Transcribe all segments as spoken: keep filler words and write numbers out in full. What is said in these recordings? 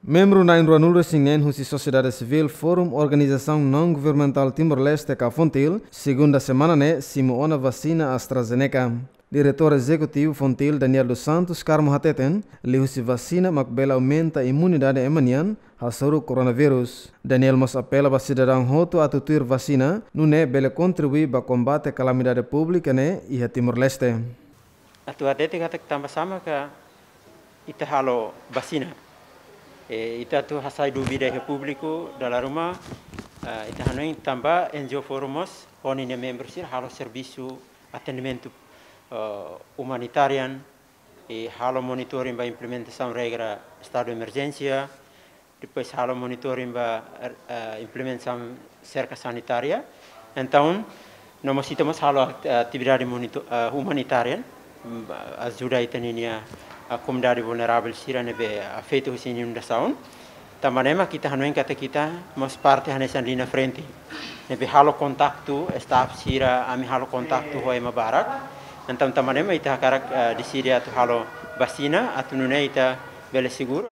Membru na'in ruanulu-resin-neen husi sosiedade sivíl Forum Organizasaun Naun Governamentál Timor-Leste ka FONTIL, segunda semana ne'e simu ona vasina AstraZeneca. Diretór Ezekutivu FONTIL, Daniel dos Santos Carmo hateten, liuhusi vasina mak bele aumenta imunidade ema nian hasoru koronavírus. Daniel mós apela ba sidadaun hotu atu tuir vasina, nune'e bele kontribui ba kombate kalamidade públika ne'e iha Timor-Leste. Atu hatete katak tanba sá maka ita halo vasina. E, ita atu hasai dúvida iha públiku, dala ruma, ah, ita hanoin tanba N G O Forum mós, ho ninia membru sira halo servisu atendimentu, ah, umanitarian, i halo monitoring ba implementasaun regra estadu emerjénsia, depois halo monitoring ba, eh, implementasaun serka sanitária. Entaun, no mós ita mós halo akt-, atividade monito-, eh, umanitarian, mm, ajuda ita ninia, eh, komunidade vulneravel sira ne'ebé afeta husi inundasaun. Tanba ne'e mak ita hanoin katak ita mós parte hanesan liña frente. Ne'ebé halo kontaktu, staff sira, ami halo kontaktu ho ema barak. Entaun, tanba ne'e mak ita hakarak, eh, deside atu halo vasina, atu nune'e ita bele seguru.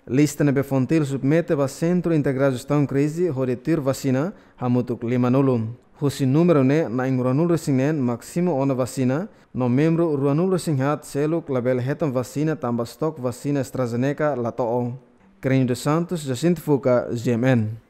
Lista ne'ebé FONTIL submete ba Sentru Integradu Jestaun Krize hodi tuir vasina hamutuk limanulu. Husi númeru ne'e na'in ruanulu-resin-neen mak simu ona vasina, no membru ruanulu-resin-haat seluk labele hetan vasina tanba stok vasina AstraZeneca la to'o. Crânio dos Santos, Jacinto Fuca, G M N.